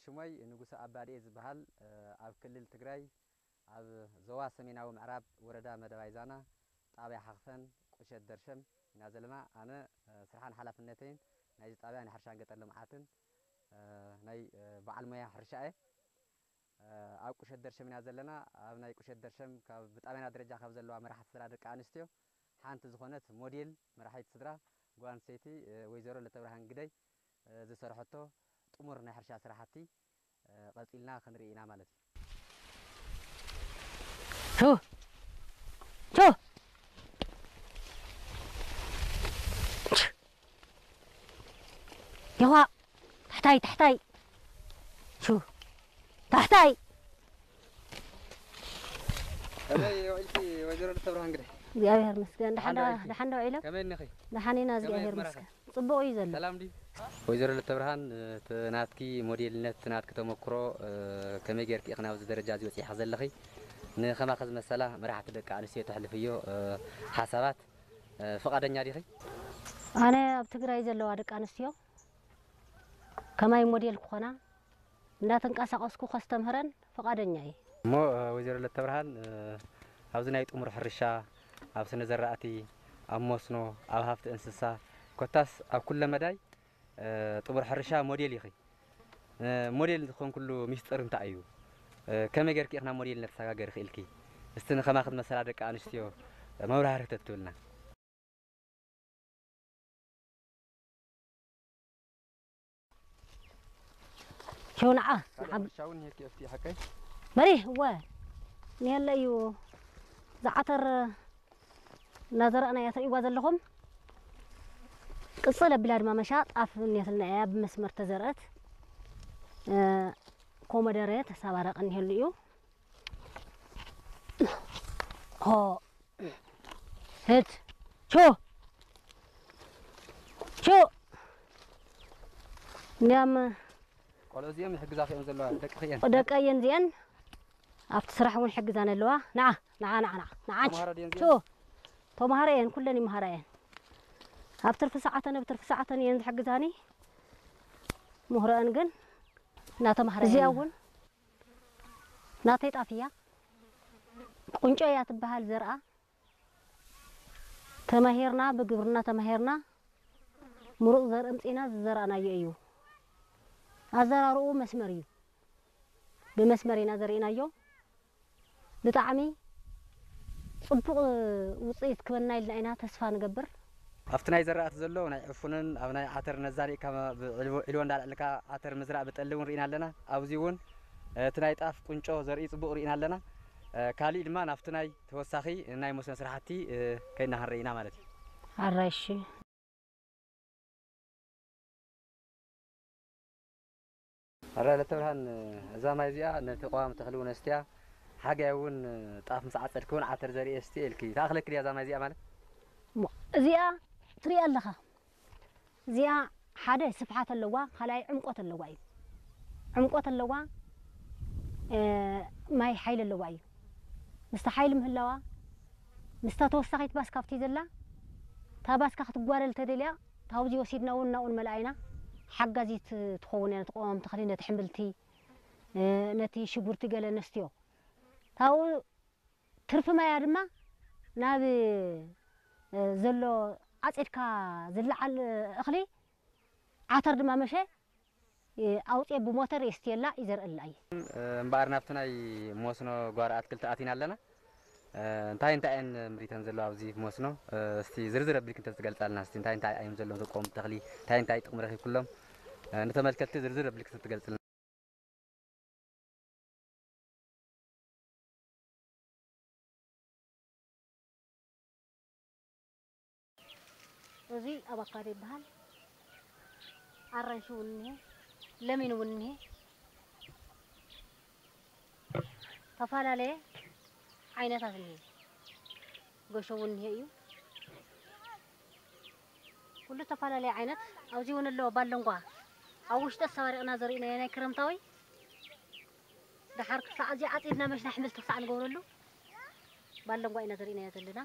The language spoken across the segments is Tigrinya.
ሽሞይ ንጉሰ ኣባድኤ ዝበሃል፣ እ፣ ኣብ ክልል ትግራይ ኣብ ዞባ ሰሜናዊ ምዕራብ ወረዳ መደባይ ዛና ጣብያ ሓኽፈን ቁሸት ደርሸም ኢና ዘለና። ኣነ፣ እ፣ ስርሓን ሓላፍነተይን ናይዚ ጣብያ ናይ ሕርሻን ገጠር ልምዓትን፣ እ፣ ናይ፣ እ፣ በዓል ሞያ ሕርሻ እየ። እ፣ ኣብ ቁሸት ደርሸም ኢና ዘለና። ኣብ ናይ ቁሸት ደርሸም ካብ ብጣብያና ደረጃ ካብ ዘለዋ መራሕቲ ስድራ ደቂ ኣንስትዮ ሓንቲ ዝኾነት ሞዴል መራሒት ስድራ ጓል ኣንስተይቲ፣ እ፣ ወይዘሮ ለተብርሃን ግደይ፣ እ፣ ዝሰርሐቶ ጥሙር ናይ ሕርሻ ስራሕቲ፣ እ፣ ቀጺልና ክንርኢ ኢና ማለት እዩ። ቹ! ቹ! ይኹዋ! ታሕታይ፣ ታሕታይ! ቹ! ታሕታይ! ከመይ ውዒልኪ ወይዘሮ ለተብርሃን ግደይ? እግዚኣብሔር ይመስገን። ደሓን ደሓን ዶ፣ ዶ ውዒልኪ? ደሓን ዶ ውዒሎም? ከመይ እኒኺ? ደሓን ኢና፣ ከመይ እግዚኣብሔር ኣዝመራኸ? ይመስገን። ጽቡቕ እዩ ዘሎ። ሰላም ድዩ? ወይዘሮ ለተብርሃን፣ እቲ ናትኪ ሞዴልነት፣ እቲ ናትኪ ተመክሮ፣ እ፣ ከመይ ጌርኪ ኢኺ ናብዚ ደረጃ እዚ በጺሕኺ ዘለኺ? ንኸማኺ ዝመሰላ መራሕቲ ደቂ ኣንስትዮ ተሕልፍዮ፣ እ፣ ሓሳባት፣ እ፣ ፍቓደኛ ዲኺ? ኣነ ኣብ ትግራይ ዘለዋ ደቂ ኣንስትዮ ከማይ ሞዴል ክኾና እንዳተንቀሳቐስኩ ከስተምህረን ፍቓደኛ እየ። እሞ፣ እ፣ ወይዘሮ ለተብርሃን፣ እ፣ ኣብዚ ናይ ጥሙር ሕርሻ፣ ኣብ ስነ ዘራእቲ፣ ኣብ መስኖ፣ ኣብ ሃፍቲ እንስሳ፣ ኮታስ ኣብ ኩለ መዳይ፣ እ፣ ጥሙር ሕርሻ ሞዴል ኢኺ። እ፣ ሞዴል ዝኾንኩሉ ሚስጥር እንታይ እዩ? እ፣ ከመይ ጌርኪ ኢኺ ናብ ሞዴልነት ተሰጋገሪ ክኢልኪ? እስቲ ንኸማኺ ዝመሰላ ደቂ ኣንስትዮ መብራህርሂ ተትብልና። ሸው ንዓ፣ ካልእ ንዓ። ሕርሻ እውን እኒሀኪ ኣብቲ ሓቀይ? በሪ፣ እወ። እኒሀለ እዩ። ዝዓተር እናዘራእና እያ ትርእይዋ ዘለኹም። ቅጽል ኣቢላ ድማ መሻ ጣፍ እኒሀትና እያ ብመስመር ተዘርአት። እ፣ ኮመደረ ተሳባረቀ እኒሀሉ እዩ። ሆ። ህት። ቹ። ቹ። እንዲያም ቆልዑ እዚኦም ይሕግዛኺ እዮም ዘለዋ፣ ደቅኺ እየን። ደቀይ እየን እዚአን። ኣብቲ ስራሕ እውን ይሕግዛን ኣለዋ። ንዓ፣ ንዓ፣ ንዓ፣ ንዓ፣ ንዓ። ተምሃሮ ድየን ቹ። እዚአን? ተምሃሮ እየን፣ ኩለን ይምሃራ እየን። ኣብ ትርፊ ሰዓተን፣ ኣብ ትርፊ ሰዓተን እየን ዝሕግዛኒ። ምህሮአን ግን እናተምሃራ እዚኣ እየን። እውን ናተይ ጣፍ እያ። ቁንጮ እያ ትበሃል ዘርኣ። ተማሂርና፣ ብግብርና ተማሂርና፣ ምሩፅ ዘርኢ ኣምፂእና ዝዘራእናዮ እዩ። ኣዘራርኡ መስመር እዩ። ብመስመር ኢና ዘሪእናዮ። ብጣዕሚ ፅቡቕ ውፅኢት ክበና ኢልና ኢና ተስፋ ንገብር። ኣብቲ ናይ ዘራእቲ ዘሎ ናይ ዕፉንን ኣብ ናይ ዓተር ነዛሪእካ ብዕልቦ-፣ ዒልቦ እንዳልዕልካ ዓተር ምዝራእ ብጠሊ እውን ርኢና ኣለና። ኣብዚ እውን እቲ ናይ ጣፍ ቁንጮ ዘርኢ ፅቡቕ ርኢና ኣለና። እ፣ ካሊእ ድማ ናብቲ ናይ ተወሳኺ ናይ መስኖ ስራሕቲ፣ እ፣ ከይድና ክንርኢ ኢና ማለት እዩ። ኣራይሺ። ኣረ ለተብርሃን፣ እዛ ማይ እዚኣ ነቲ ቀዋሚ ተኽሊ እውን ኣስትያ፣ ሓጋይ እውን ጣፍ ምስ ዓጸድኪ እውን ዓተር ዘርኢ ኣስትየ ኢልኪ። ትኣኽለኪ ድያ እዛ ማይ እዚኣ ማለት? እሞ እዚኣ ትሪኣ ኣለኻ። እዚኣ ሓደ ስፍሓት ኣለዋ፣ ካልኣይ ዕምቆት ኣለዋ እዩ። ዕምቆት ኣለዋ፣ እ፣ ማይ ሓይሊ ኣለዋ እዩ። ምስታ ሓይሊ ምህላዋ፣ ምስታ ተወሳኺት ባስ ካብቲ ዘላ፣ እታ ባስካ ክትጓደል ተደልያ፣ ታብዚ ወሲድና እውን ናብኡ ንመልኣ ኢና። ሓጋዚት ትኸውን እያ ነቲ ቀዋሚ ተኽሊ፣ ነቲ ሕምብልቲ፣ እ፣ ነቲ ሽጉርቲ ገለ ነስትዮ። ታብኡ ትርፊ ማያ ድማ ናብ፣ እ፣ ዘሎ ዓጺድካ ዝለዓል እኽሊ ዓተር ድማ መሸ፣ እ፣ ኣውጽኤ ብሞተር የስትየላ ይዘርእላ እየ። እ፣ እምበኣር ናብቲ ናይ መስኖ ጓሮ ኣትክልቲ ኣቲና ኣለና። እ፣ እንታይ እንታይ እየን ምሪተን ዘለዋ ኣብዚ መስኖ? እ፣ እስቲ ዝርዝር ኣቢልኪ እንተዝገልጻልና፣ እስቲ እንታይ እንታይ እዮም ዘለዎም ዝቆሙ ተኽሊ፣ እንታይ እንታይ ጥቕሚ ረኺብኩሎም? እ፣ ንተመልከትቲ ዝርዝር ኣቢልኪ እንተትገልጽልና። እዚ ኣቫካዶ ይበሃል። ኣራንሺ እውን እኒሀ፣ ለሚን እውን እኒሀ። ተፈላለየ ዓይነታት እኒሀ። ገሾ እውን እኒሀ እዩ። ኩሉ ተፈላለየ ዓይነት። ኣብዚ እውን ኣሎ ባለንጓ። ኣብ ውሽጢ ኣሰባሪቕና ዘሪእናዮ ናይ ክረምታዊ። ደሓር ክሳዕ እዚ ዓፂድና መሽና ኣሕምልቲ ክሳዕ ንገብረሉ ባለንጓ ኢና ዘሪእናዮ ዘለና።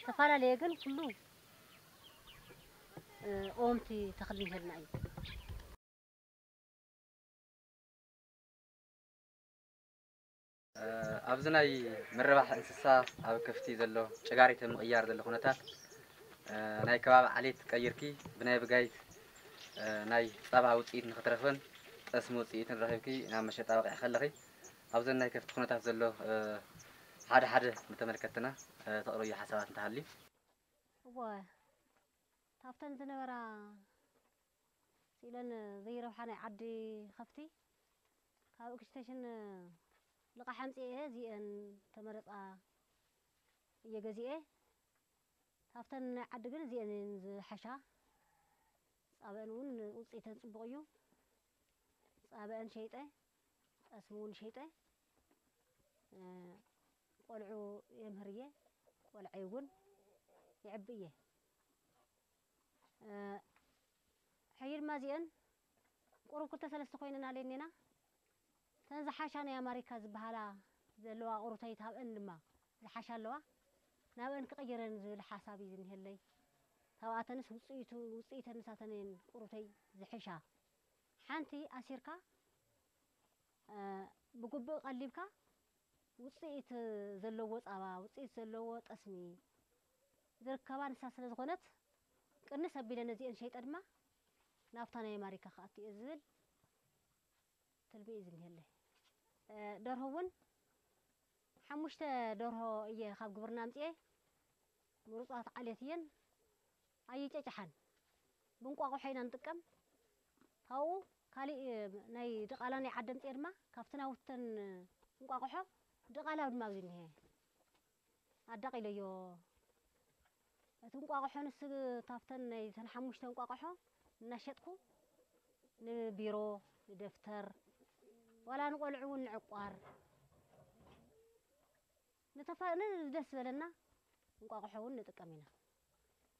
ተፈላለየ ግን ኩሉ፣ እ፣ ቀወምቲ ተኽሊ ይህልና እዩ። ኣብዚ ናይ ምርባሕ እንስሳ ኣብ ከፍቲ ዘሎ ጭጋሪት ምቕያር ዘሎ ኩነታት፣ ናይ ከባቢ ዓሌት ቀይርኪ ብናይ ብጋይት ናይ ጸባ ውጽኢት ንኽትረኽብን ጠስሚ ውጽኢትን ረኺብኪ ናብ መሸጣ በቒዕኪ ከለኺ፣ ኣብዘን ናይ ከፍቲ ኩነታት ዘሎ ሓደ ሓደ ንተመልከትና ተቕርብዮ ሓሳባት እንተሃልዩ። እወ፣ ካብተን ዝነበራ ስኢለን ዘይረብሓ ናይ ዓዲ ከፍቲ ካብ ኤክስቴንሽን ልቓሕ ኣምፂኤ እዚአን ተመረፃ እየ ገዚኤ። ካብተን ናይ ዓዲ ግን እዚአን እየን ዝሓሻ። ፃበአን እውን ውፅኢተን ፅቡቕ እዩ። ፃበአን ሸይጠ፣ ጠስሚ እውን ሸይጠ፣ ቆልዑ የምህር እየ፣ ቆልዐይ እውን የዕቢ እየ። ሕጂ ድማ እዚአን ቁሩብ ክልተ ሰለስተ ኮይነን ኣለና። እተን ዝሓሻ ናይ ኣማሪካ ዝበሃላ ዘለዋ ቁሩተይ ታብአን ድማ ዝሓሻ ኣለዋ። ናብአን ክቕይረን ዝብል ሓሳብ እዩ ዝኒሀለይ። ታብኣተንስ ውፅኢቱ ውፅኢተን ንሳተን እየን ቁሩተይ ዝሕሻ። ሓንቲ ኣሲርካ ብግቡእ ቀሊብካ ውፅኢት ዘለዎ ፃባ፣ ውፅኢት ዘለዎ ጠስሚ ዝርከባ ንሳ ስለ ዝኾነት ቅንስ ኣቢለ ነዚአን ሸይጠ ድማ ናብታ ናይ ኣማሪካ ክኣቱ እየ ዝብል ትልሚ እዩ ዝኒሀለይ። ደርሆ እውን ሓሙሽተ ደርሆ እየ ካብ ግብርና ኣምፅኤ። ምሩፃት ዓሌት እየን። ኣይጨጭሓን። ብእንቋቑሖ ኢና ንጥቀም። ካብኡ ካሊእ ናይ ድቓላ ናይ ዓዲ ኣምፅኤ ድማ ካብቲ ናውተን እንቋቑሖ ድቓላ ድማ ኣብዚ እኒሀ ኣዳቒለዮ። እቲ እንቋቑሖ ንስ ካብተን ናይ ተን ሓሙሽተ እንቋቑሖ እናሸጥኩ ንቢሮ ንደፍተር ዋላ ንቆልዑ እውን ንዕቋር ንተፋ ንደስ ዝበለና እንቋቑሖ እውን ንጥቀም ኢና።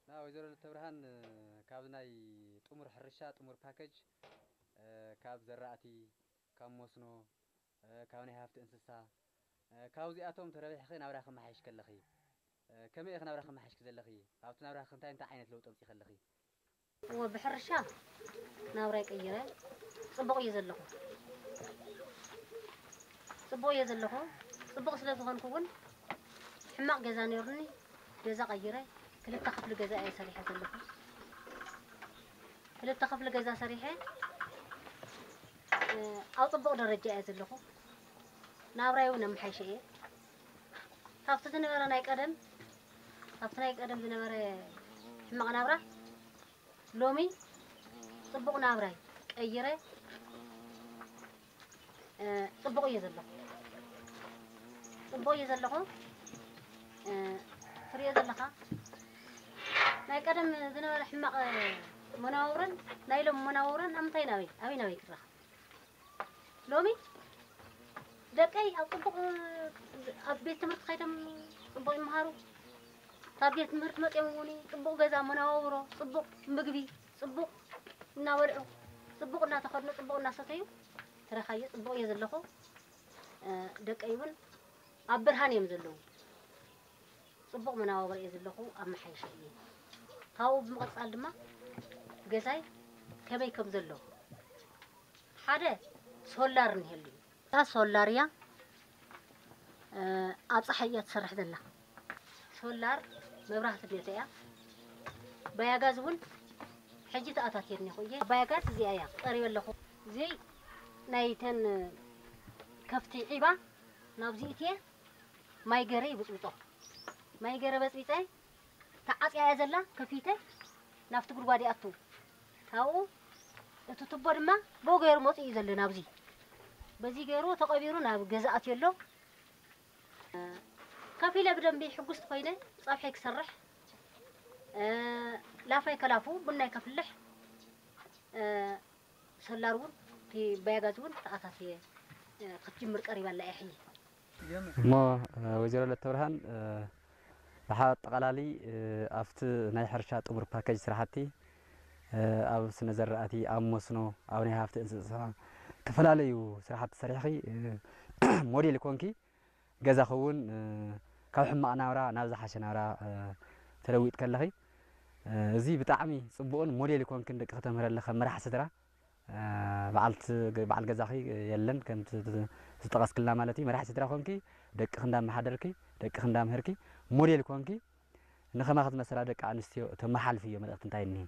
ና ወይዘሮ ለተብርሃን፣ ካብ ናይ ጥሙር ሕርሻ ጥሙር ፓኬጅ፣ ካብ ዘራእቲ፣ ካብ መስኖ፣ ካብ ናይ ሃፍቲ እንስሳ፣ ካብዚኣቶም ተረቢሕኺ ናብራ ከመሓይሽ ከለኺ፣ ከመይ ኢኺ ናብራ ከመሓይሽኪ ዘለኺ? ኣብቲ ናብራኺ እንታይ እንታይ ዓይነት ለውጢ ኣምፂእኺ ኣለኺ? እወ ብሕርሻ ናብራይ ቀይረ። ፅቡቕ እየ ዘለኹ። ፅቡቕ እየ ዘለኹ። ፅቡቕ ስለ ዝኾንኩ እውን ሕማቕ ገዛ ነይሩኒ። ገዛ ቀይረ። ክልተ ክፍሊ ገዛ እየ ሰሪሐ ዘለኹ። ክልተ ክፍሊ ገዛ ሰሪሐ ኣብ ፅቡቕ ደረጃ እየ ዘለኹ። ናብራይ እውን ኣመሓይሸ እየ። ካብቲ ዝነበረ ናይ ቀደም ካብቲ ናይ ቀደም ዝነበረ ሕማቕ ናብራ ሎሚ ፅቡቕ ናብራይ ቀይረ ፅቡቕ እየ ዘለኹ። ፅቡቕ እየ ዘለኹ። ትሪኦ ዘለኻ ናይ ቀደም ዝነበረ ሕማቕ መነባብሮን ናይ ሎም መነባብሮን ኣብ ምንታይ ናበይ ኣበይ ናበይ ክረኸብ? ሎሚ ደቀይ ኣብ ፅቡቕ ኣብ ቤት ትምህርቲ ከይዶም ፅቡቕ ይመሃሩ። ካብ ቤት ትምህርቲ መፂኦም እውን ፅቡቕ ገዛ መነባብሮ፣ ፅቡቕ ምግቢ፣ ፅቡቕ እናበልዑ፣ ፅቡቕ እናተኸድኑ፣ ፅቡቕ እናሰተዩ ትረኻዮ። ፅቡቕ እየ ዘለኹ። ደቀይ እውን ኣብ ብርሃን እዮም ዘለዉ። ፅቡቕ መነባብሮ እየ ዘለኹ። ኣመሓይሸ እየ። ካብኡ ብምቕፃል ድማ ገዛይ ከመይ ከም ዘሎ ሓደ ሶላር እኒሀሉ እዩ። እታ ሶላር እያ ኣብ ፀሓይ እያ ትሰርሕ ዘላ። ሶላር መብራህቲ ቤተ እያ። ባያጋዝ እውን ሕጂ ተኣታትየ እኒኹ እየ። ባያጋዝ እዚኣ እያ ቀሪበ ኣለኹ። እዚ ናይተን ከፍቲ ዒባ ናብዚ እትየ ማይ ገረ ይብፅብፆ። ማይ ገረ በፅቢፀ ተዓፅያ እያ ዘላ። ከፊተ ናብቲ ጉድጓድ ይኣቱ። ካብኡ እቲ ቱቦ ድማ ብኡ ገይሩ መፂኡ እዩ ዘሎ ናብዚ። በዚ ገይሩ ተቐቢሩ ናብ ገዛ ኣትዮ ኣሎ። ከፊለ ብደንቢ ሕጉስቲ ኮይነ ፀብሐይ ክሰርሕ ላፋይ ከላፉ ቡናይ ከፍልሕ ሶላር እውን እቲ ባያጋዝ እውን ተኣታትየ ክትጅምር ቀሪባ ኣላ እያ ሕጂ። እሞ ወይዘሮ ለተብርሃን ብሓ ኣጠቓላሊ ኣብቲ ናይ ሕርሻ ጥሙር ፓኬጅ ስራሕቲ ኣብ ስነ ዘራእቲ፣ ኣብ መስኖ፣ ኣብ ናይ ሃፍቲ እንስሳ ዝተፈላለዩ ስራሕቲ ሰሪሕኺ ሞዴል ኮንኪ ገዛኺ እውን ካብ ሕማቕ ናብራ ናብ ዝሓሸ ናብራ ተለዊጥኪ ኣለኺ። እዚ ብጣዕሚ ፅቡቕን ሞዴል ኮንክን ደቂ ከተምህረለ ከም መራሕ ስድራ በዓል ገዛኺ የለን ከምቲ ዝጠቐስክልና ማለት እዩ። መራሒ ስድራ ኮንኪ፣ ደቅኺ እንዳመሓደርኪ፣ ደቅኺ እንዳምሀርኪ፣ ሞዴል ኮንኪ፣ ንኸማኺ ዝመሰላ ደቂ ኣንስትዮ ተመሓልፍዮ መልእኽቲ እንታይ እኒሀ?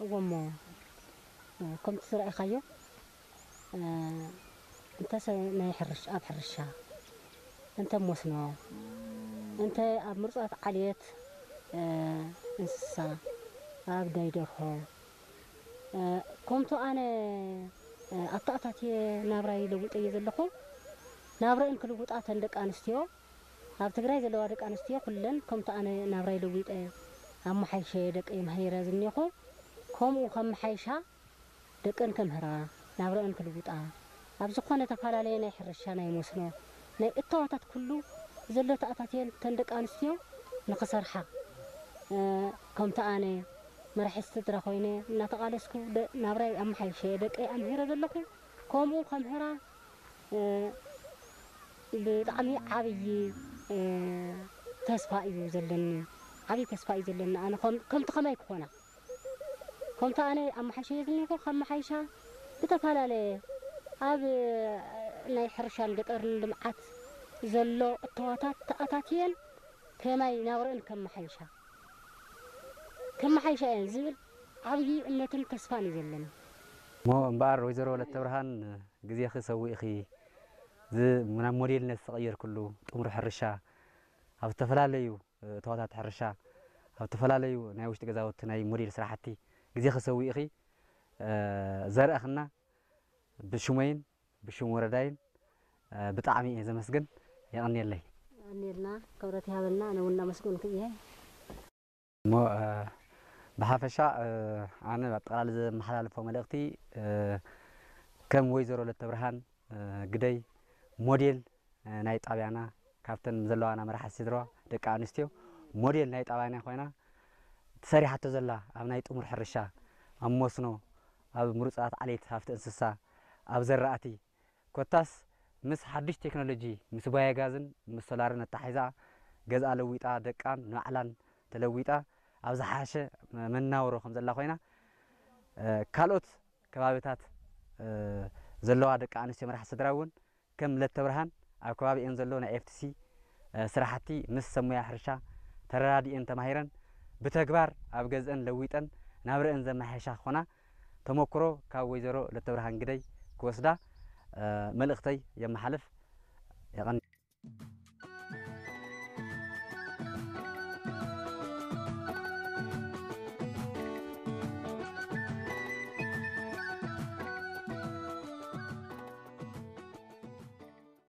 እዎ እሞ፣ ከምቲ ዝረኣኻዮ፣ እንተሰ ናይ ሕርሽ-፣ ኣብ ሕርሻ፣ እንተ መስኖ፣ እንተ ኣብ ምርፃት ዓሌት፣ እንስሳ፣ ኣብ ናይ ደርሆ፣ ከምቱ ኣነ ኣተኣታትየ ናብራይ ለዊጠዮ ዘለኹ፣ ናብረአን ክልውጣ እተን ደቂ ኣንስትዮ፣ ኣብ ትግራይ ዘለዋ ደቂ ኣንስትዮ ኩለን ከምቱ ኣነ ናብራይ ለዊጠ ኣመሓይሸ ደቀይ መሃይረ ዝኒኹ፣ ከምኡ ከመሓይሻ ደቀን ከምህራ፣ ናብረአን ክልውጣ፣ ኣብ ዝኾነ ተፈላለየ ናይ ሕርሻ፣ ናይ መስኖ፣ ናይ እተዋታት ኩሉ ዘሎ ተኣታትየን እተን ደቂ ኣንስትዮ ንኽሰርሓ፣ ከምቲ ኣነ መራሒ ስድራ ኮይነ እናተቓለስኩ ደ-፣ ናብራይ ኣመሓይሸ ደቀይ ኣምሂረ ዘለኹ፣ ከምኡ ከምህራ፣ ብጣዕሚ ዓብዪ ተስፋ እዩ ዘለኒ። ዓብዪ ተስፋ እዩ ዘለኒ። ኣነ ከም-፣ ከምቲ ከማይ ክኾና፣ ከምቲ ኣነ ኣመሓይሸ እየ ዝኒኹ፣ ከመሓይሻ ብተፈላለየ ኣብ ናይ ሕርሻን ገጠርን ልምዓት ዘሎ እተዋታት ተኣታትየን ከማይ ናብረአን ከመሓይሻ፣ ከመሓይሻ እየን ዝብል ዓብዪ እምነትን ተስፋን እዩ ዘለኒ። እሞ እምበኣር ወይዘሮ ወለተ ብርሃን፣ ግዜኺ ሰዊእኺ፣ ዝ-፣ ናብ ሞዴልነት ዝተቐየርክሉ ጥሙር ሕርሻ፣ ኣብ ዝተፈላለዩ እተዋታት ሕርሻ፣ ኣብ ዝተፈላለዩ ናይ ውሽጢ ገዛውቲ ናይ ሞዴል ስራሕቲ ግዜኺ ሰዊእኺ፣ ዘርእኽና ብሽመይን ብሽም ወረዳይን፣ ብጣዕሚ እየ ዘመስግን። የቐንየለይ። የቐንየልና፣ ክብረት ይሃበልና፣ ኣነ እውን እናመስገንኩ እየ። እሞ፣ ብሓፈሻ፣ ኣነ ኣጠቓላሊ ዘመሓላልፎ መልእኽቲ፣ ከም ወይዘሮ ለተብርሃን ግደይ ሞዴል ናይ ጣብያና፣ ካብተን ዘለዋና መራሕቲ ስድራ ደቂ ኣንስትዮ ሞዴል ናይ ጣብያና ኮይና፣ ተሰሪሓቶ ዘላ ኣብ ናይ ጥሙር ሕርሻ፣ ኣብ መስኖ፣ ኣብ ምሩፃት ዓሌት ሃፍቲ እንስሳ፣ ኣብ ዘራእቲ፣ ኮታስ ምስ ሓድሽ ቴክኖሎጂ፣ ምስ ባዮጋዝን ምስ ሶላርን ኣተሓሒዛ፣ ገዝኣ ለዊጣ፣ ደቃን ንባዕላን ተለዊጣ፣ ኣብ ዝሓሸ መናውሮ ከም ዘላ ኮይና፣ ካልኦት ከባብታት ዘለዋ ደቂ ኣንስትዮ መራሕቲ ስድራ እውን ከም ለተብርሃን ኣብ ከባቢኤን ዘሎ ናይ ኤፍ ቲ ሲ ስራሕቲ ምስ ሰብ ሞያ ሕርሻ ተረዳዲኤን ተማሂረን ብተግባር ኣብ ገዝአን ለዊጠን ናብረአን ዘመሓየሻ ክኾና ተመክሮ ካብ ወይዘሮ ለተብርሃን ግደይ ክወስዳ መልእኽተይ የመሓልፍ። የቐን